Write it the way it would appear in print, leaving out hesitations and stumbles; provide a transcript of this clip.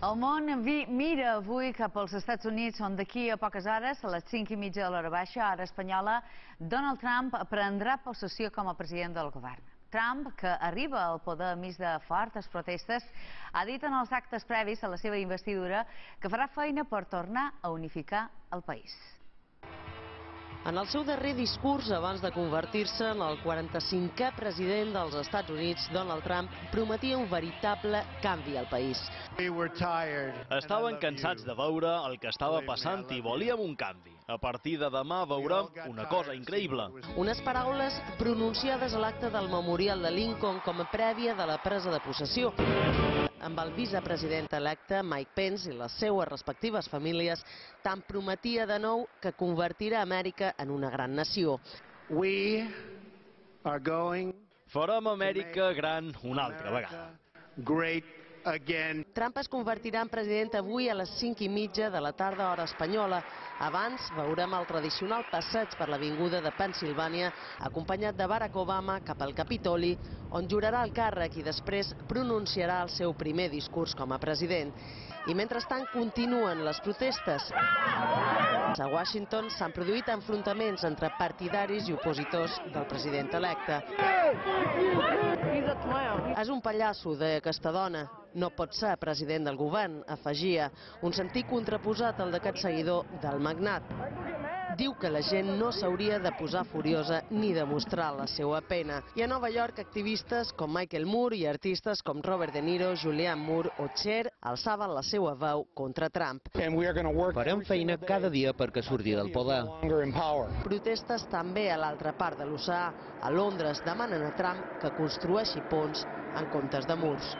El món mira avui cap als Estats Units, on d'aquí a poques hores, a les 5:30 de l'hora baixa, hora espanyola, Donald Trump prendrà possessió com a president del govern. Trump, que arriba al poder enmig de fortes protestes, ha dit en els actes previs a la seva investidura que farà feina per tornar a unificar el país. En el seu darrer discurs, abans de convertir-se en el 45è president dels Estats Units, Donald Trump prometia un veritable canvi al país. Estaven cansats de veure el que estava passant i volíem un canvi. A partir de demà veurem una cosa increïble. Unes paraules pronunciades a l'acte del Memorial de Lincoln com a prèvia de la presa de possessió, amb el vicepresident electe Mike Pence i les seues respectives famílies, tant prometia de nou que convertirà Amèrica en una gran nació. Farem Amèrica gran una altra vegada. Trump es convertirà en president avui a les 5:30 de la tarda, hora espanyola. Abans veurem el tradicional passeig per l'avinguda de Pennsilvània, acompanyat de Barack Obama cap al Capitoli, on jurarà el càrrec i després pronunciarà el seu primer discurs com a president. I mentrestant continuen les protestes. A Washington s'han produït enfrontaments entre partidaris i opositors del president electe. És un pallasso, deia aquesta dona. No pot ser president del govern, afegia, un sentit contraposat al d'aquest seguidor del magnat. Diu que la gent no s'hauria de posar furiosa ni de mostrar la seva pena. I a Nova York, activistes com Michael Moore i artistes com Robert De Niro, Julianne Moore o Cher alçaven la seva veu contra Trump. Farem feina cada dia perquè surti del poder. Protestes també a l'altra part de l'oceà. A Londres demanen a Trump que construeixi ponts en comptes de murs.